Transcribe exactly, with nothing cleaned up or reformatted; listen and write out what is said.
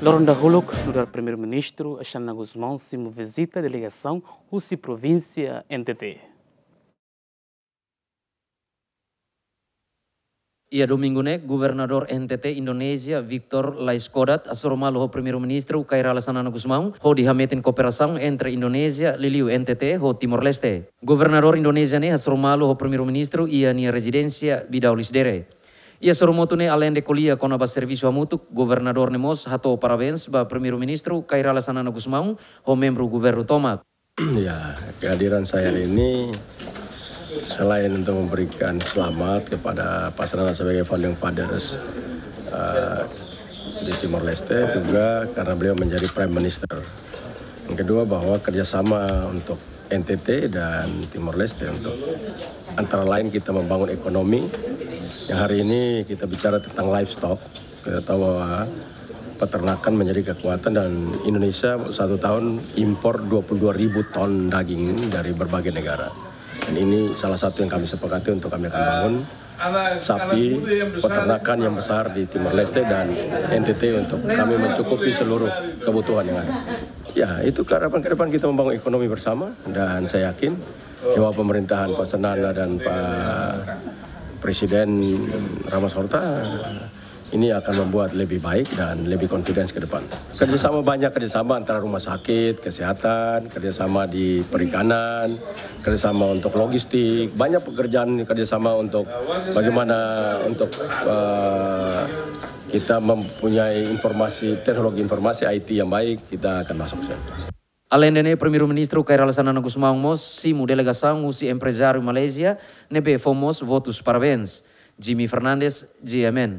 Loron dahuluk, nu'udar Primeiru-Ministru Xanana Gusmão simu vizita delegasaun husi provínsia N T T. Iha domingu ne'e, Governadór N T T Indonézia, Victor Laiskodat, hasoru malu ho Primeiru-Ministru Kay Rala Xanana Gusmão, hodi hametin kooperasaun entre Indonézia, liuliu N T T, ho Timor-Leste. Governadór Indonézia ne'e hasoru malu ho Primeiru-Ministru iha nia rezidénsia Bidau Lecidere. Iha sorumutu ne'e, aleinde ko'alia kona-ba servisu hamutuk, Governadór ne'e mós hato'o parabéns ba Primeiru-Ministru Kay Rala Xanana Gusmão ho membru governu tomak. Ya, kehadiran saya hari ini selain untuk memberikan selamat kepada Pak Xanana sebagai founding fathers, eh, di Timor Leste, juga karena beliau menjadi Prime Minister. Yang kedua, bahwa kerjasama untuk N T T dan Timor Leste untuk antara lain kita membangun ekonomi. Yang hari ini kita bicara tentang livestock. Kita tahu bahwa peternakan menjadi kekuatan dan Indonesia satu tahun impor dua puluh dua ribu ton daging dari berbagai negara. Dan ini salah satu yang kami sepakati untuk kami akan bangun sapi peternakan yang besar di Timor Leste dan N T T untuk kami mencukupi seluruh kebutuhan yang ada. Ya, itu harapan ke depan kita membangun ekonomi bersama dan saya yakin di bawah pemerintahan Pak Xanana dan Pak Presiden Ramos Horta ini akan membuat lebih baik dan lebih confidence ke depan. Kerjasama banyak, kerjasama antara rumah sakit, kesehatan, kerjasama di perikanan, kerjasama untuk logistik, banyak pekerjaan kerjasama untuk bagaimana untuk, eh, kita mempunyai informasi, teknologi informasi I T yang baik, kita akan masuk ke sana. Aleinde ne'e, Primeiru-Ministru Kay Rala Xanana Gusmão mós simu delegasaun husi emprezáriu Malázia ne'ebé fó mós votus parabéns. Jimmy Fernandes, G M N.